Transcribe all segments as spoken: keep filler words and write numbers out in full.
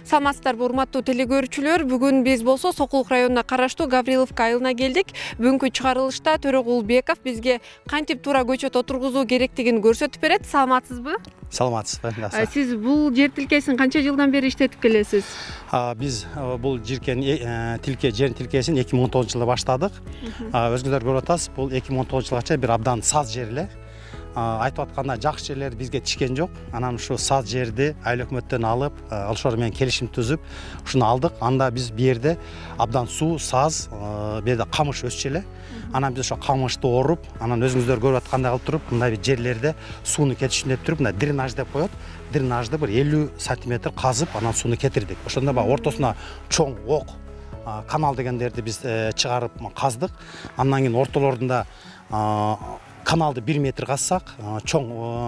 Саламатсыздарбы урматтуу телекөрүүчүлөр. Бүгүн биз болсо Сокулук районуна караштуу Гавриловка айылына келдик. Бүгүнкү чыгарылышта Төрөгулбеков бизге кантип туура көчөт отургузуу керектигин көрсөтүп берет. Саламатсызбы? Саламатсызбы. Сиз бул жер тилкесин канча жылдан бери иштетип келесиз? Биз бул жеркен тилке жер тилкесин эки миң он тогузунчу жылы баштадык. Өзүңүздөр көрүп атасыз, бул эки миң он тогузунчу жылга бир абдан саз жер эле. Айтып атканда жакшы жерлер бизге тишкен жок. Анан ушу саз жерди айыл өкмөттөн алып, ошолор менен келишим түзүп, ушуну алдык. Анда биз бу жерде абдан суу, саз, бу жерде камыш өсчү эле. Анан биз ошо камышты оруп, анан өзүңүздөр көрүп аткандай кылып туруп, мындай бир жерлерде сууну кетишин деп туруп, мындай дренаж деп коет. Дренажды бир элүү сантиметр казып, анан сууну кетирдик. Ошондо баягы ортосуна чоң ок канал дегендерди биз чыгарып каздык. Андан кийин ортолорунда каналды бир метр казсак, чоң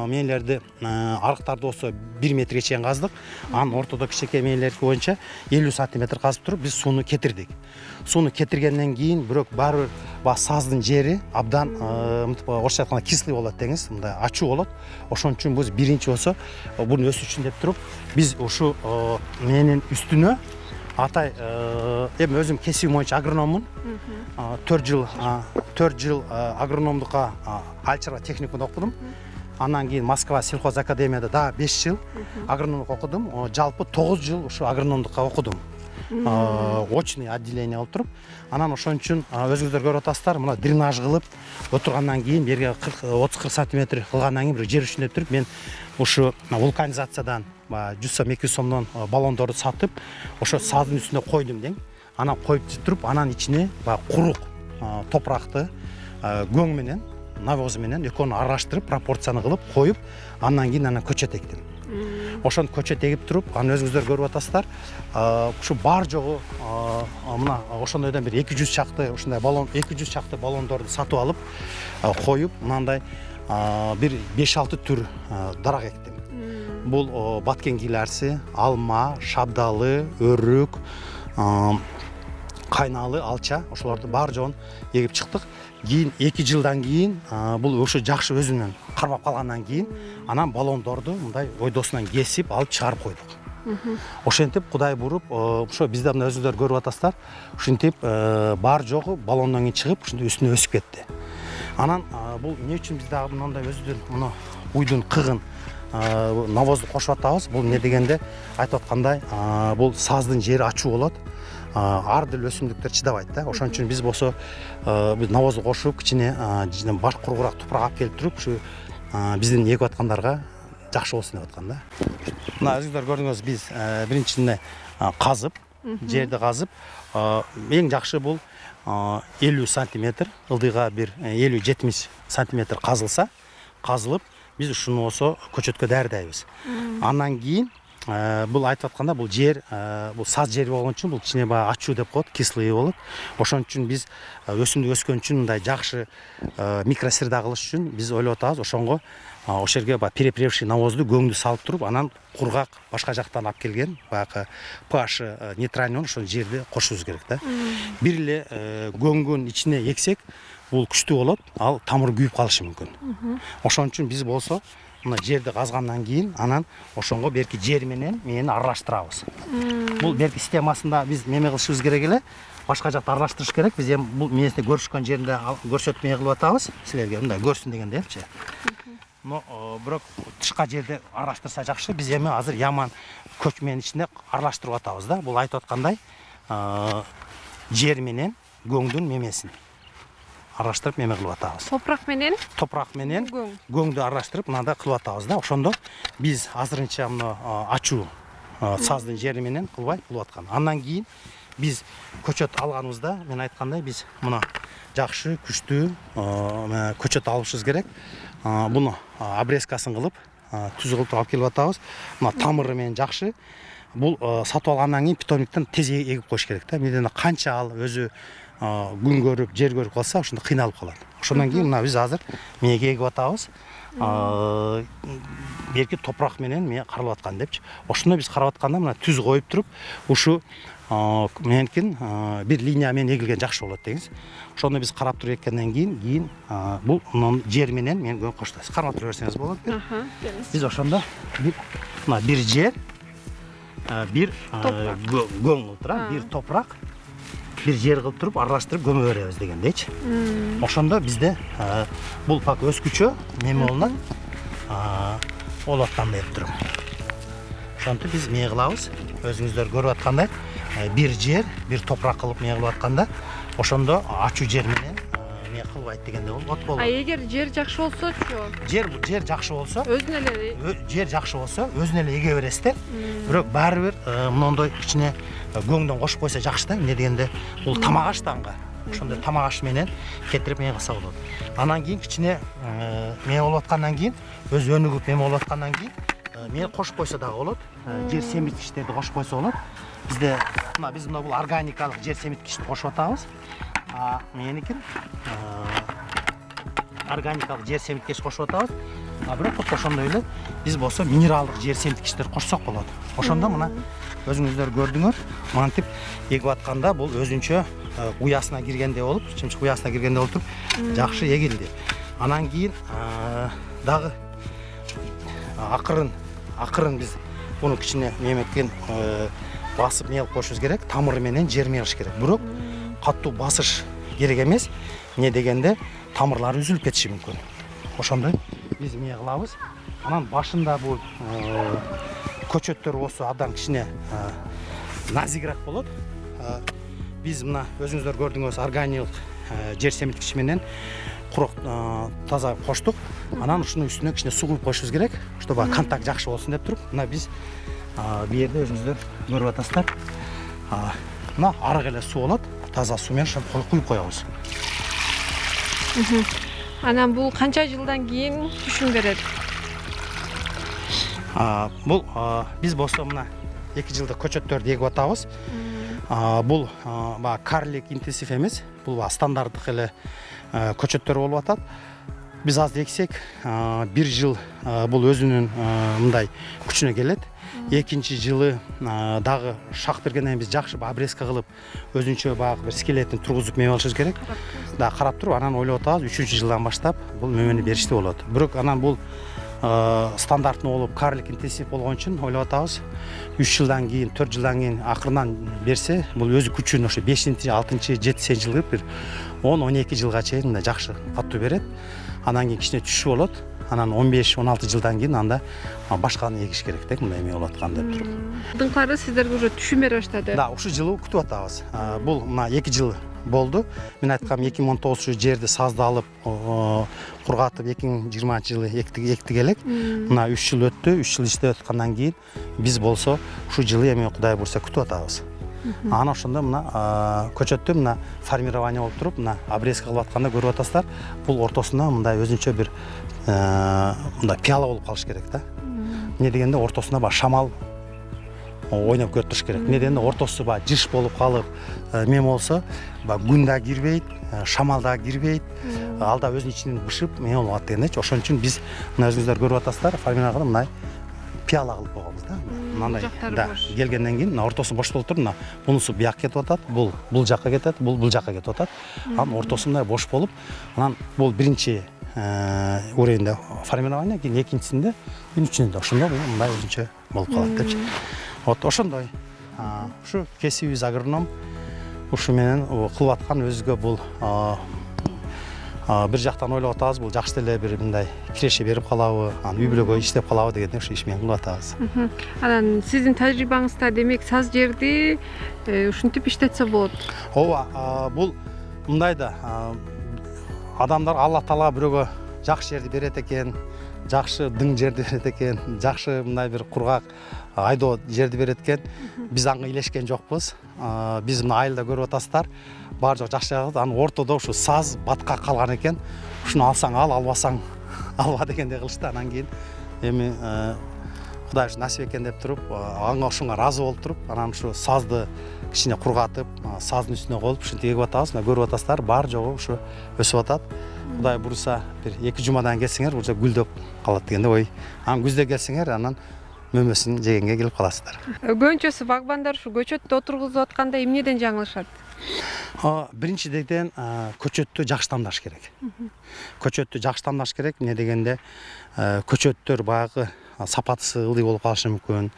мээлерди, арыктарды болсо бир метрге чейин каздык. Анан ортодо кичинекей мээлерди боюнча элүү сантиметр казып туруп, биз сууну кетирдик. Сууну кетиргенден кийин бирок баары бир баягы саздын жери абдан мынтип орусча айтканда кислый болот деңиз, мындай ачуу болот. Ошон үчүн биз биринчи болсо буну өсүш үчүн деп туруп, биз ушу менин үстүнө атай эми өзүм кесибим боюнча агрономмун. төрт жыл төрт жыл агрономдукка Альчарба техникумда окудум. Андан кийин Москва сельхоз академияда дагы беш жыл агрономдук окудум. Жалпы тогуз жыл ушу агрономдукка окудум. Очный отделение болуп туруп. Анан ошон үчүн өзүңүздөр көрүп атасыздар, мына дренаж кылып отургандан кийин берге отуз кырк сантиметр кылгандан кийин бир жер үчүн деп туруп, мен ушу вулканизациядан жүз сом эки жүз сомдон баллондорду сатып, ошо саздын үстүнө койдум дең. Анан коюп туруп, анан ичине баягы курук топуракты көң менен, навоз менен экөөнү аралаштырып, пропорцияны кылып коюп, андан кийин анан көчөт эктим. Ошону көчөт эгип туруп, аны өзүңүздөр көрүп атасыздар. Ушу бар жогу мына ошондойдон бир эки жүз чакты ушундай баллон, эки жүз чакты баллондорду сатып алып, коюп, мындай бир беш алты түр дарак эктим. Бул баткен гилярси, алма, шабдалы, өрүк, кайналы, алча, ошолорду бар жоон эгип чыктык. Кийин эки жылдан кийин бул ушу жакшы өзүнөн кармап калгандан кийин анан баллондорду мындай ойдосунан кесип алып чыгарып койдук. Ошентип Кудай буруп, ошо бизде мына өзүңүздөр көрүп атасыздар, ушинтип бар жогу баллондон кийин чыгып, ушундай үстүнө өсүп кетти. Анан бул эмне үчүн биз дагы мындай өзүдөн муну уйдун кыгын навозду кошуп атабыз? Бул эмне дегенде айтып аткандай, бул саздын жери ачуу болот. Ар дил өсүмдүктөр чыдабайт да. Ошон үчүн биз болсо биз навозду кошуп, кичине баш куругураак тупурак алып келип туруп, ушу биздин эгип аткандарга жакшы болсун деп аткан да. Мына өзүңүздөр көрдүңүз, биз биринчисинде казып, жерди казып, эң жакшы бул элүү сантиметр, ылдыйга бир элүү жетимиш сантиметр казылса, казылып, биз ушуну болсо көчөткө даярдайбыз. Андан кийин бул айтып атканда бул жер, бул саз жер болгон үчүн бул кичине баягы ачуу деп коет, кислый болот. Ошон үчүн биз өсүмдүк өскөн үчүн мындай жакшы микросреда кылыш үчүн биз ойлоп атабыз, ошонго ошол жерге баягы перепревший навозду көңдү салып туруп, анан кургак башка жактан алып келген баягы pH нейтральный ошол жерди кошубуз керек да. Бир эле көңгүн ичине эксек, бул күчтүү болот, ал тамыры күйүп калышы мүмкүн. Ошон үчүн биз болсо мына жерди казгандан кийин анан ошонго берки жер менен мени аралаштырабыз. Бул берки системасында биз неме кылышыбыз керек эле, башка жакта аралаштырыш керек. Биз эми бул месте көрүшкөн жеринде көрсөтмө кылып атабыз силерге, мындай көрсүн дегендепчи. Но бирок тышка жерде аралаштырса жакшы. Биз эми азыр яман көчмөнүн ичинде аралаштырып атабыз да. Бул айтып аткандай жер менен көңдүн мемесин аралаштырып меме кылып атабыз. Топурак менен? Топурак менен көңдү аралаштырып мындай кылып атабыз да. Ошондо биз азырынча мына ачуу саздын жери менен кылбай кылып аткан. Андан кийин биз көчөт алганыбызда, мен айткандай, биз мына жакшы, күчтүү көчөт алышыбыз керек. Буну обрезкасын кылып, түз кылып алып келип атабыз. Мына тамыры менен жакшы. Бул сатып алгандан кийин питомниктен тез эгип коюш керек да. Менден канча ал өзү күн көрүп, жер көрүп калса, ошондо кыйналып калат. Ошондон кийин мына биз азыр мээге эгип атабыз. Берки топурак менен мен каралып аткан депчи. Ошондо биз карап атканда мына түз коюп туруп, ушу меникин бир линия менен эгилген жакшы болот деңиз. Ошондо биз карап туруп эккенден кийин, кийин бул жер менен мен көң коштойбуз. Кармап тура берсеңиз болот. Биз ошондо мына бир жер, бир көң кылып турат, бир топурак, бир жер кылып туруп аралаштырып көмө беребиз дегендейчи. Ошондо бизде бул пак өскүчө неме болунат, болуп аткандай деп турам. Ошентип биз эмне кылабыз? Өзүңүздөр көрүп аткандай, бир жер, бир топурак кылып эмне кылып атканда, ошондо ачуу жер менен эмне кылбайт дегенде болот болот. А эгер жер жакшы болсочу? Жер жер жакшы болсо, өзүнө эле жер жакшы болсо, өзүнө эле эге бересиздер. Бирок баары бир мондой кичине көңдөн кошуп койсо жакшы да. Эмне дегенде, бул тамак аш таңга. Ошондой тамак аш менен кетирип эмне кылса болот. Анан кийин кичине эмне болуп аткандан кийин, өз өнүгүп эмне болуп аткандан кийин мен кошуп койсо дагы болот. Жер семирткичтерди кошуп койсо болот. Бизде мына биз мына бул органикалык жер семирткичти кошуп атабыз. А меникин органикалык жер семирткич кошуп атабыз. А бирок ошондой эле биз болсо минералдык жер семирткичтер кошсок болот. Ошондо мына өзүңүздөр көрдүңөр, мантип эгип атканда бул өзүнчө уясына киргенде болуп, чымчык уясына киргенде болуп туруп жакшы эгилди. Анан кийин дагы акырын акырын биз буну кичине неметкен басып эмне кылып коюшубуз керек, тамыры менен жерме кылыш керек. Бирок катуу басыш керек эмес. Эмне дегенде тамырлары үзүлүп кетиши мүмкүн. Ошондой биз эмне кылабыз? Анан башында бул көчөттөр болсо абдан кичине назигирээк болот. Биз мына өзүңүздөр көрдүңүз органикалык жер семирткич менен курок таза коштук. Анан ушунун үстүнө кичине суу куюп коюшубуз керек. Ошто баягы контакт жакшы болсун деп туруп, мына биз бу жерде өзүңүздөр көрүп атасыздар. Мына арык эле суу болот. Таза суу менен куюп коебуз. Анан бул канча жылдан кийин түшүм берет? Бул биз болсо мына эки жылдык көчөттөрдү эгип атабыз. Бул баягы карлик интенсив эмес. Бул стандарттык эле көчөттөр болуп атат. Биз азыр эксек, бир жыл бул өзүнүн мындай күчүнө келет. Экинчи жылы дагы шак бергенден биз жакшы обрезка кылып, өзүнчө баягы бир скелетин тургузуп мем алышыбыз керек. Да карап туруп, анан ойлоп атабыз, үчүнчү жылдан баштап бул мемени беришти болот. Бирок анан бул стандартный болуп, карлик интенсив болгон үчүн ойлоп атабыз, үч жылдан кийин, төрт жылдан кийин акырынан берсе, бул өзү күчүн ошо бешинчи, алтынчы, жетинчи жылы бир он он эки жылга чейин мындай жакшы катуу берет. Анан кийин кичине түшүү болот. Анан он беш он алты жылдан кийин анда башканы эгиш керек деп мындай эме болуп аткан деп туруп. Алдыңкылары сиздерге уже түшүм бере баштады. Да, ушул жылы күтүп атабыз. Бул мына эки жыл болду. Мен айткам эки миң он тогузунчу жерди сазды алып, кургатып эки миң жыйырманчы жылы эктик элек. Мына үч жыл өттү. үч жыл иштеп аткандан кийин биз болсо ушул жылы эми Кудай буйрса күтүп атабыз. Анан ошондо мына көчөттү мына формирование болуп туруп, мына обрезка кылып атканда көрүп атасыздар. Бул ортосунда мындай өзүнчө бир мындай пиала болуп калыш керек да. Эмне дегенде ортосунда баягы шамал ойноп көрүп туруш керек. Эмне дегенде ортосу баягы жыш болуп калып, эме болсо, баягы күн да кирбейт, шамал да кирбейт. Ал да өзүнүн ичинен бышып, эме болуп атат дегендечи. Ошон үчүн биз мына өзүңүздөр көрүп атасыздар, формирование кылып мындай пиала кылып койгонбуз да. Мындай да келгенден кийин мына ортосу бош болуп туруп, мына бунусу бияка кетип атат, бул бул жакка кетет, бул бул жакка кетип атат. Анан ортосу мындай бош болуп, анан бул биринчи уровеньде формирование, кийин экинчисинде, кийин үчүнчүдө ошондо мындай өзүнчө болуп калат депчи. Вот ошондой. Ушу кесибибиз агроном. Ушу менен кылып аткан өзүгө бул бир жактан ойлоп атабыз, бул жакшы эле бир мындай киреше берип калабы, анан үй бүлөгө иштеп калабы дегенде ушу иш менен кылып атабыз. Анан сиздин тажрыйбаңызда демек саз жерди ушинтип иштетсе болот. Ооба, бул мындай да адамдар Алла Таала бирөөгө жакшы жерди берет экен, жакшы дың жерди берет экен, жакшы мындай бир кургак айдоо жерди берет экен. Биз ага илешкен жокпуз. Биз мына айылда көрүп атасыздар, баары жок жакшы жагат. Анын ортодо ушу саз баткак калган экен. Ушуну алсаң ал, албасаң алба дегендей кылышты. Анан кийин эми Кудай ушу насип экен деп туруп, ага ошонго ыраазы болуп туруп, анан ушу сазды кичине кургатып, саздын үстүнө коюп, ушинтип эгип атабыз. Мына көрүп атасыздар, баары жогу ушу өсүп атат. Кудай буйрса, бир эки жумадан келсеңер, уже гүлдөп калат дегенде ой. Анан күздө келсеңер, анан мөмөсүн жегенге келип каласыздар. Көбүнчөсү багбандар ушу көчөттү отургузуп атканда эмнеден жаңылышат? Биринчиден көчөттү жакшы тамдаш керек. Көчөттү жакшы тамдаш керек. Эмне дегенде көчөттөр баягы сапатысы ылдый болуп калышы мүмкүн.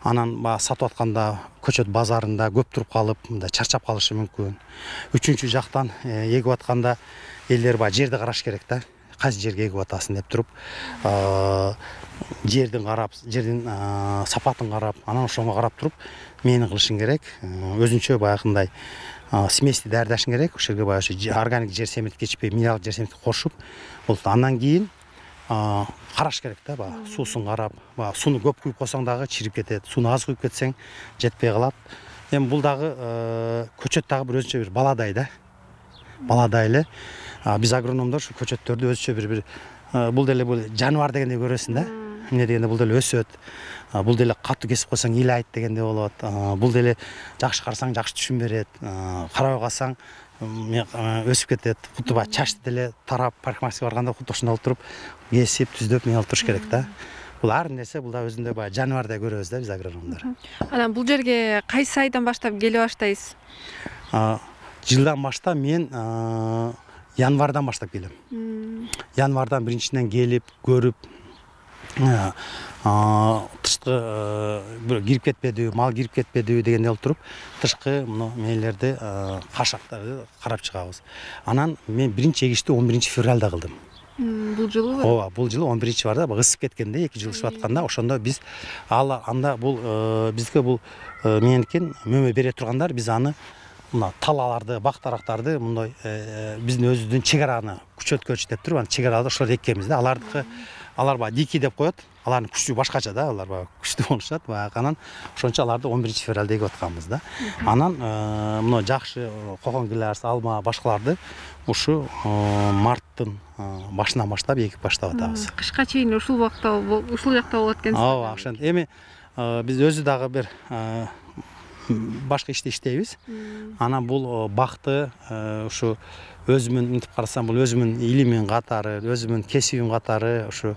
Анан баягы сатып атканда көчөт базарында көп туруп калып, мындай чарчап калышы мүмкүн. Үчүнчү жактан эгип атканда элдер баягы жерди караш керек да. Кайсы жерге эгип атасың деп туруп, жердин карап, жердин сапатын карап, анан ошого карап туруп мени кылышың керек. Өзүнчө баягындай смеси даярдашың керек. Ошол жерге баягы органик жер семиртип кечпей, минералдык жер семиртип кошуп, болот. Андан кийин караш керек да, баягы суусун карап, баягы сууну көп куюп койсоң дагы чирип кетет, сууну аз куюп кетсең жетпей калат. Эми бул дагы көчөт дагы бир өзүнчө бир баладай да. Баладай эле биз агрономдор ушу көчөттөрдү өзүнчө бир бир бул деле бул жаныбар дегендей көрөсүң да. Эмне дегенде бул деле өсөт. Бул деле катуу кесип койсоң ыйлайт дегендей болот. Бул деле жакшы карасаң жакшы түшүм берет. Карабай калсаң өсүп кетет. Куту баягы чачты деле тарап парикмахерскийге барганда куту ошондой болуп туруп, кесип, түздөп мени алып туруш керек да. Бул ар нерсе бул да өзүндө баягы жаныбардай көрөбүз да биз агрономдор. Анан бул жерге кайсы айдан баштап келе баштайсыз? Жылдан баштап мен январдан баштап келем. Январдан биринчиден келип, көрүп, тышкы кирип кетпедиби, мал кирип кетпедиби дегендей болуп туруп, тышкы мына мээлерди, кашактарды карап чыгабыз. Анан мен биринчи эгишти он биринчи февралда кылдым. Бул жылы? Ооба, бул жылы он биринчи барда, ысып кеткенде, эки жыл ысып атканда, ошондо биз ал анда бул бизге бул менен мөмө бере тургандар, биз аны мына талаларды, бактарактарды мындай биздин өзүбүздүн чек араны күчөткөч деп туруп, аны чек араларды ошолорду эккенбиз да. Алардыкы алар баягы дикий деп коет. Алардын күчү башкача да, алар баягы күчтүү болушат. Баягы анан ошончо аларды он биринчи февралда эгип атканбыз да. Анан мына жакшы кокон гилярс, алма, башкаларды ушу марттын башынан баштап эгип баштап атабыз. Кышка чейин ушул убакта ушул жакта болот экенсиз. Ооба, ошентип. Эми биз өзү дагы бир башка иште иштейбиз. Анан бул бакты ушу өзүмүн мынтип карасам, бул өзүмүн илимин катары, өзүмүн кесибим катары ушу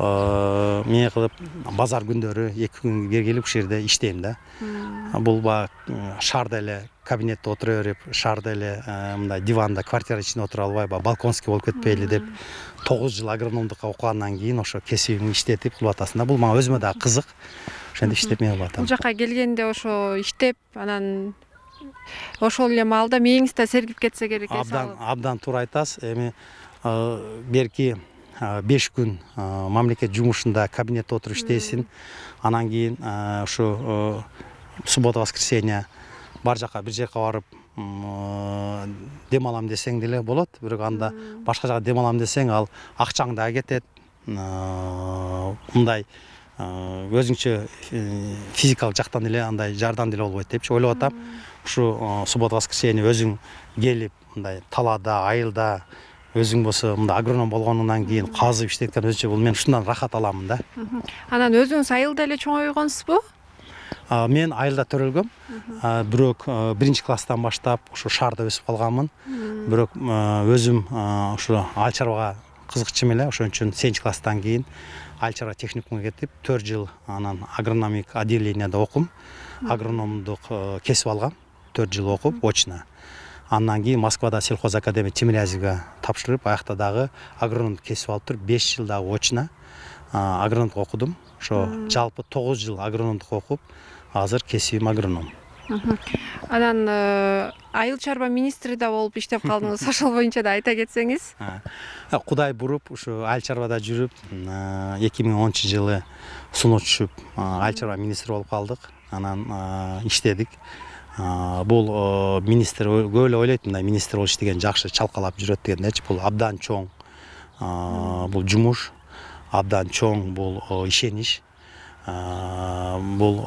эмне кылып базар күндөрү эки күн келип ушул жерде иштейм да. Бул баягы шаарда эле кабинетте отура берип, шаарда эле мындай диванда, квартира ичинде отура албай, баягы балконский болуп кетпейли деп тогуз жыл агрономдукка окугандан кийин ошо кесибимди иштетип кылып атасың да. Бул мага өзүмө дагы кызык. Ошентип иштеп мен кылып атам. Бул жака келгенде ошо иштеп, анан ошол эле маалда мээңиз да сергип кетсе керек. Абдан, абдан туура айтасыз. Эми берки беш күн мамлекет жумушунда кабинетте отуруп иштейсиң. Анан кийин ушу суббота, воскресенье бар жака бир жака барып дем алам десең деле болот. Бирок анда башка жака дем алам десең, ал акчаң да кетет. Мындай өзүңчө физикалык жактан деле андай жардам деле болбойт депчи ойлоп атам. Ушу суббота, воскресенье өзүң келип, мындай талаада, айылда өзүң болсо мындай агроном болгонунан кийин казып иштеткен өзүнчө бул мен ушундан рахат аламын да. Анан өзүңүз айылда эле чоңойгонсузбу? Мен айылда төрөлгөм. Бирок биринчи класстан баштап ушу шаарда өсүп калганмын. Бирок өзүм ушу ал чарбага кызыкчым эле, ошон үчүн сегизинчи класстан кийин айыл чарба техникумга кетип, төрт жыл анан агрономик отделенияда окум. Агрономдук кесип алгам, төрт жыл окуп, очно. Андан кийин Москвада сельхоз академия Тимирязевге тапшырып, аякта дагы агрономдук кесип алып туруп, беш жыл дагы очно агрономдук окудум. Ошо жалпы тогуз жыл агрономдук окуп, азыр кесибим агроном. Анан айыл чарба министри да болуп иштеп калдыңыз. Ошол боюнча да айта кетсеңиз. Кудай буруп, ушу айыл чарбада жүрүп, эки миң онунчу жылы суноо түшүп, айыл чарба министри болуп калдык. Анан иштедик. Бул министр көп эле ойлойт, мындай министр болуш деген жакшы чалкалап жүрөт дегендечи. Бул абдан чоң бул жумуш, абдан чоң бул ишенич. Бул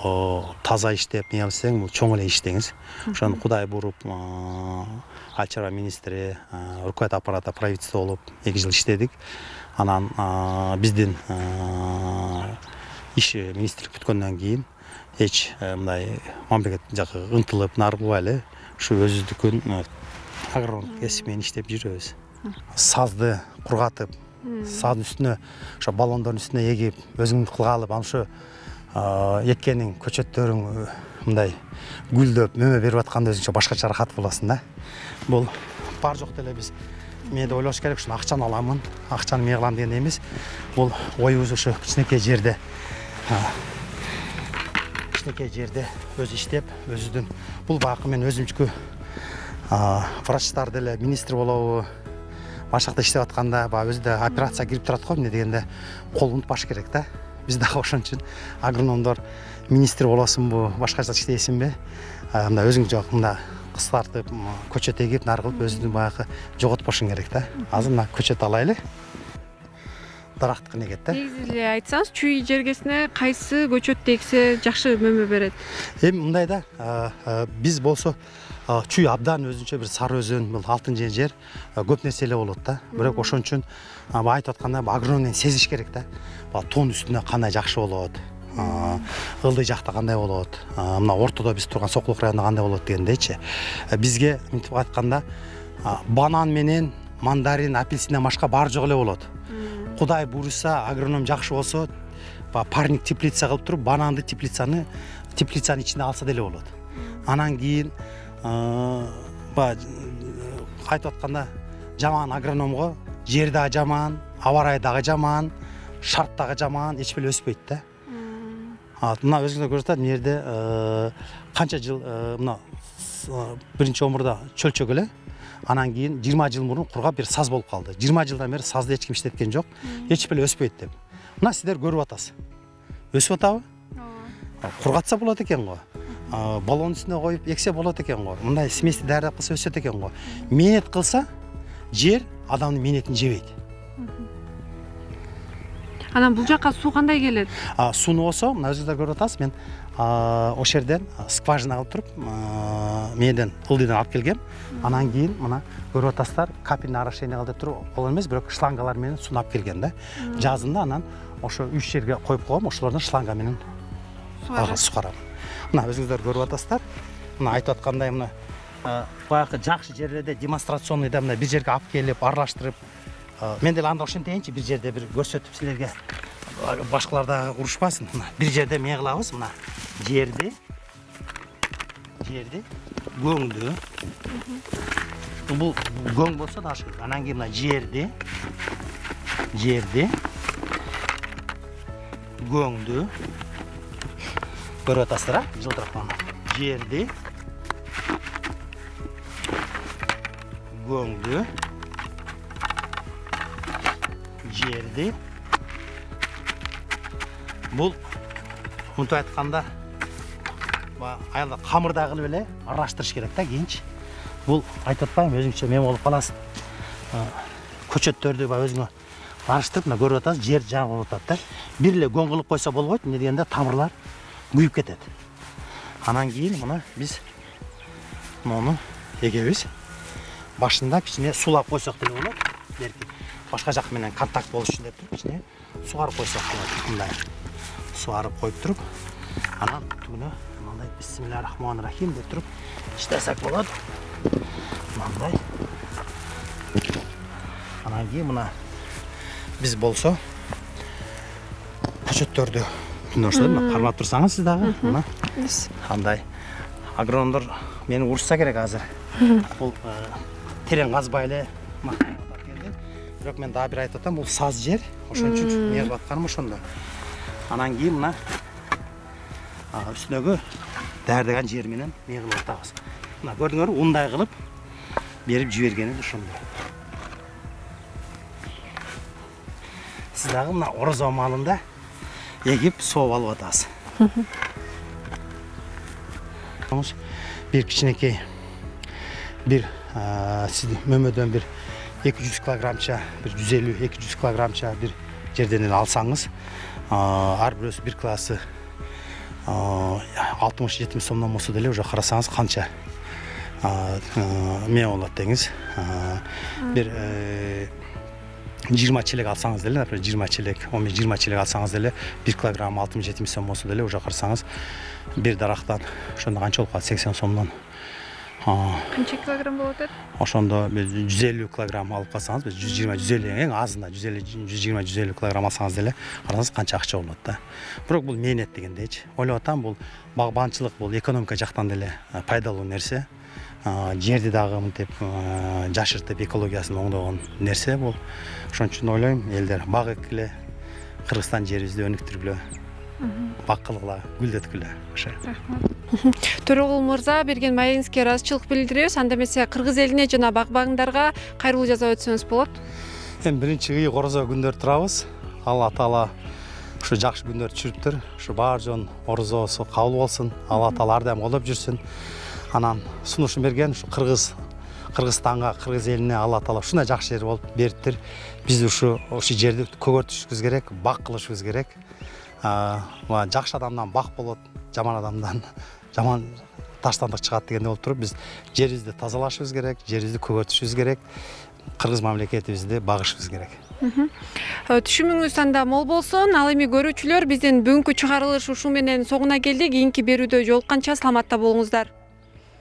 таза иштеп, эмне кылсаң, бул чоң эле иштеңиз. Ошону Кудай буруп, айыл чарба министри, руководитель аппарата правительства болуп эки жыл иштедик. Анан биздин иш министрлик бүткөндөн кийин эч мындай мамлекет жакы ынтылып, нарылбай эле ушу өзүбүздүкүн агроном кесип менен иштеп жүрөбүз. Сазды кургатып, саздын үстүнө, ошо баллондордун үстүнө эгип, өзүң кылгалып, анан ошо эккениң, көчөттөрүң мындай гүлдөп, мөмө берип атканда өзүңчө башкача рахат болосуң да. Бул бар жок деле биз менде ойлош керек, ушуну акчаны аламын, акчаны мен кылам деген эмес. Бул оюбуз ушу кичинекей жерде кичинекей жерде өзү иштеп, өзүдүн бул багы мен өзүмчү врачтар деле министр болобу, башка жакта иштеп атканда баягы өзү да операция кирип турат го, эмне дегенде кол унутпаш керек да. Биз дагы ошон үчүн агрономдор министр болосунбу, башка жакта иштейсиңби, мындай өзүң жок мындай кыскартып, көчөт эгип, нар кылып өзүнүн баягы жоготпошуң керек да. Азыр мына көчөт алайлы. Дарактык негет да. Негизи эле айтсаңыз, чүй жергесине кайсы көчөт эгсе жакшы мөмө берет? Эми мындай да, биз болсо чүй абдан өзүнчө бир сары өзөн, бул алтын жер, көп нерсе эле болот да. Бирок ошон үчүн айтып атканда агрономдун сезиш керек да. Тоон үстүнө кандай жакшы болот, ылдый жакта кандай болот, мына ортодо биз турган Сокулук районунда кандай болот дегендейчи. Бизге мынтип айтканда банан менен мандарин, апельсинден башка баары жок эле болот. Кудай буйруса, агроном жакшы болсо, парник теплица кылып туруп, бананды теплицаны теплицанын ичинде алса деле болот. Анан кийин айтып атканда жаман агрономго жер дагы жаман, аба ырайы дагы жаман, шарт дагы жаман, эч беле өспөйт да. Мына өзүңүздөр көрүп атат, мына жерде канча жыл мына биринчи омурда чөлчөк эле, анан кийин жыйырма жыл мурун кургап бир саз болуп калды. жыйырма жылдан бери сазды эч ким иштеткен жок, эч беле өспөйт деп. Мына сиздер көрүп атасыз. Өсүп атабы? Кургатса болот экен го. Баллон үстүнө коюп эксе болот экен го. Мындай смести даярдап кылса өсөт экен го. Мээнет кылса, жер адамдын мээнетин жебейт. Анан бул жакка суу кандай келет? Сууну болсо, мына өзүңүздөр көрүп атасыз, мен ошол жерден скважина кылып туруп, мээден ылдыйдан алып келгем. Анан кийин мына көрүп атасыздар, капельный орошение кылып туруп, ол эмес, бирок шлангалар менен сууну алып келген да. Жазында анан ошо үч жерге коюп койгом, ошолордон шланга менен сугарам. Мына өзүңүздөр көрүп атасыздар. Мына айтып аткандай, мына баягы жакшы жерлерде демонстрационный да мына бир жерге алып келип, аралаштырып, мен деле анда ошентейинчи, бир жерде бир көрсөтүп силерге, башкалар дагы урушпасын. Мына бир жерде эмне кылабыз? Мына жерди, жерди көңдү. Бул көң болсо да ашык. Анан кийин мына жерди, жерди көңдү. Көрүп атасыздар, а? Жылтырап мына. Жерди көңдү. Жерди. Бул мынтип айтканда, аялдар камырда кылып эле аралаштырыш керек да кийинчи. Бул айтып атпаймынбы, өзүңчө мен болуп каласың. Көчөттөрдү баягы өзүңө аралаштырып, мына көрүп атасыз, жер жагы болуп атат да. Бир эле көң кылып койсо болбойт, эмне дегенде тамырлар күйүп кетет. Анан кийин мына биз муну эгебиз. Башында кичине сулап койсок деле болот. Берки башка жак менен контакт болуш үчүн деп туруп, кичине сугарып койсок болот. Мындай сугарып коюп туруп, анан түгүнө мындай бисмиллахиррахманиррахим деп туруп иштесек болот. Мындай. Анан кийин мына биз болсо көчөттөрдү түнөштү, мына кармап турсаңыз сиз дагы, мына. Андай агрономдор мени урушса керек азыр. Бул терең казбай эле бирок мен дагы бир айтып атам, бул саз жер, ошон үчүн эмне кылып атканым ошондо. Анан кийин мына үстүнөгү даярдаган жер менен эмне кылып атабыз. Мына көрдүңөрбү, ундай кылып берип жибергени ошондой. Сиз дагы мына орозо маалында эгип сооп алып атасыз. Бир кичинекей бир сиздин мөмөдөн бир эки жүз килограммча, бир жүз элүү эки жүз килограммча бир жерден эле алсаңыз, ар бирөөсү бир классы алтымыш жетимиш сомдон болсо деле уже карасаңыз канча эмне болот деңиз. Бир жыйырма челек алсаңыз деле, например, жыйырма челек, он беш жыйырма челек алсаңыз деле бир килограмм алтымыш жетимиш сом болсо деле уже карасаңыз бир дарактан ошондо канча болуп калат? сексен сомдон Канча килограмм болот эт? Ошондо биз жүз элүү килограмм алып калсаңыз, биз жүз жыйырма жүз элүү эң азында жүз элүү жүз жыйырма жүз элүү килограмм алсаңыз деле карасаңыз канча акча болот да. Бирок бул мээнет дегендейчи. Ойлоп атам, бул багбанчылык, бул экономика жактан деле пайдалуу нерсе. Жерди дагы мынтип жашыртып экологиясын оңдогон нерсе бул. Ошон үчүн ойлойм, элдер бак эккиле, Кыргызстан жерибизди өнүктүргүлө, бак кылгыла, гүлдөткүлө. Ошо. Төрөгул мырза, берген маегиңизге ыраазычылык билдиребиз. Анда эмесе кыргыз элине жана багбандарга кайрылуу жасап өтсөңүз болот. Эми биринчи ыйык орозо күндөр турабыз. Алла таала ушу жакшы күндөр түшүрүптүр. Ушу баар жон орозосу кабыл болсун. Алла таала ар дайым колдоп жүрсүн. Анан сунушун берген ушу Кыргыз Кыргызстанга, кыргыз элине Алла таала ушундай жакшы жер болуп бериптир. Биз ушу ушу жерди көгөртүшүбүз керек, бак кылышыбыз керек. Жакшы адамдан бак болот, жаман адамдан жаман таштандык чыгат дегенде болуп туруп, биз жерибизди тазалашыбыз керек, жерибизди көгөртүшүбүз керек, кыргыз мамлекетибизди багышыбыз керек. Түшүмүңүз анда мол болсун. Ал эми көрүүчүлөр, биздин бүгүнкү чыгарылыш ушу менен соңуна келди. Кийинки берүүдө жолукканча саламатта болуңуздар.